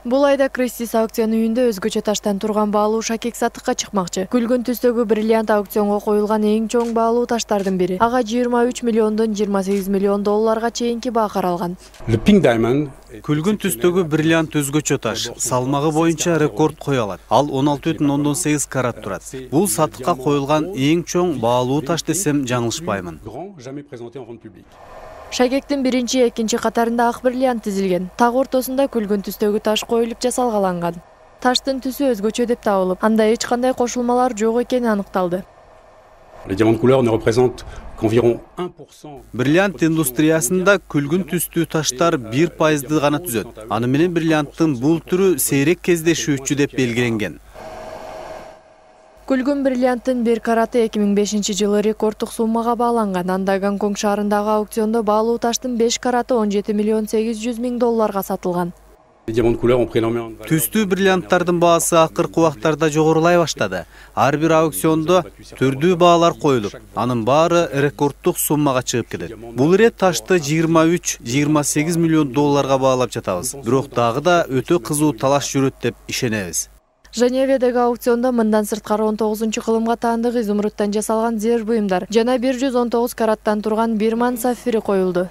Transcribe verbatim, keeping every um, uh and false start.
Бул айда Кристис аукцион үйүндө өзгөчө таштан турган баалуу шакек сатыкка чыкмакчы. Күлгүн түстөгү бриллиант аукционго коюлган эң чоң баалуу таштардын бири. Ага жыйырма үч миллиондон жыйырма сегиз миллион долларга чейинки баа каралган. Күлгүн түстөгү бриллиант өзгөчө таш. Салмагы боюнча рекорд кое алат. Ал он алты бүтүн ондон сегиз карат турат. Бул сатыкка коюлган эң чоң баалуу таш десем жаңылышпаймын. Шакектин биринчи, экинчи катарында ак бриллиант тизилген. Так ортосунда күлгүн түстөгү таш коюлуп жасалгаланган. Таштын түсү өзгөчө деп табылып, анда эч кандай кошулмалар жок экени аныкталды. Бриллиант индустриясында күлгүн түстүү таштар бир пайызды гана түзөт. Аны менен бриллианттын бул түрү сейрек кездешүүчү деп белгиленген. Күлгүн бриллианттын бир караты эки миң бешинчи жылы рекорддук суммага бааланган. Анда Гонконг шаарындагы аукциондо баалуу таштын беш караты он жети миллион сегиз жүз миң долларга сатылган. Түстүү бриллианттардын баасы акыркы убактарда жогорулай баштады. Ар бир аукциондо түрдүү баалар коюлуп, анын баары рекорддук суммага чыгып кетет. Бул ирет ташты жыйырма үч — жыйырма сегиз миллион долларга баалап жатабыз. Бирок дагы да өтө кызуу талаш жүрөт деп ишенебиз. Женеведеги аукциондо мындан сырткары он тогузунчу кылымга таандык изумруттан жасалган зер буюмдар жана бир жүз он тогуз караттан турган бирман сафири коюлду.